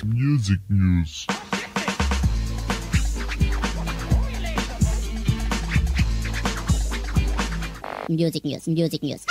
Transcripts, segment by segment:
Music news. Music news.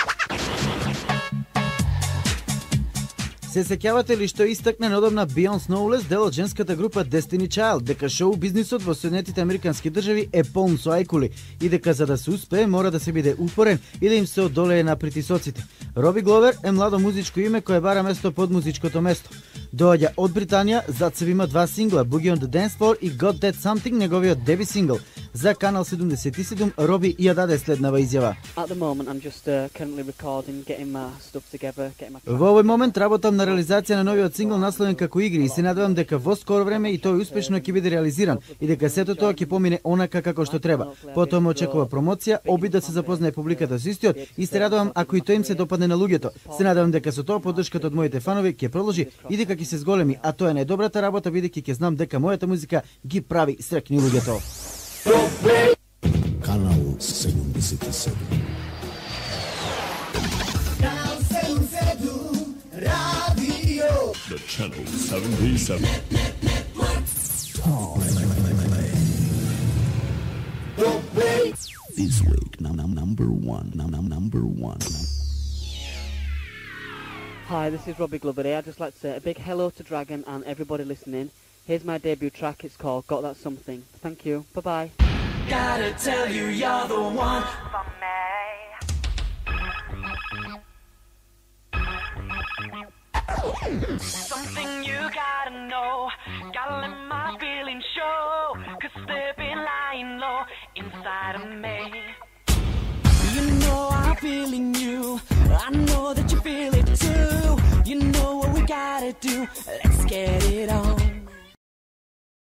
Се сеќавате ли што истакна неодамна Бейонс Knowles, дел од женската група Destiny Child, дека шоу бизнисот во Соединетите Американски држави е полн со ајкули и дека за да се успее мора да се биде упорен и да им се одолее на притисоците. Роби Гловер е младо музичко име кое бара место под музичкото место. Доаѓа од Британија, зад себе има 2 сингла, Boogie on the Dance Floor и Got That Something, неговиот деби сингл. За Канал 77 Роби ја даде следнава изјава. Во овој момент работам на реализација на новиот сингл насловен како Игри и се надевам дека во скоро време и тој успешно ќе биде реализиран и дека сето тоа ќе помине онака како што треба. Потоа ме очекува промоција, обид да се запознае публиката со истиот и се радувам ако и тој им се допадне на луѓето. Се надевам дека со тоа поддршката од моите фанови ќе продолжи и дека ќе се зголеми, а тоа е најдобрата работа бидејќи ќе знам дека мојата музика ги прави среќни луѓето. Канал 77. The Channel 77. This week, number one. Hi, this is Robbie Glover here. I'd just like to say a big hello to Dragon and everybody listening. Here's my debut track. It's called Got That Something. Thank you. Bye-bye. Gotta tell you, you're the one for me. Something you gotta know. Gotta let my feelings show. 'Cause they've been lying low inside of me. You know I'm feeling you. I know that you feel it too. You know what we gotta do. Let's get it on.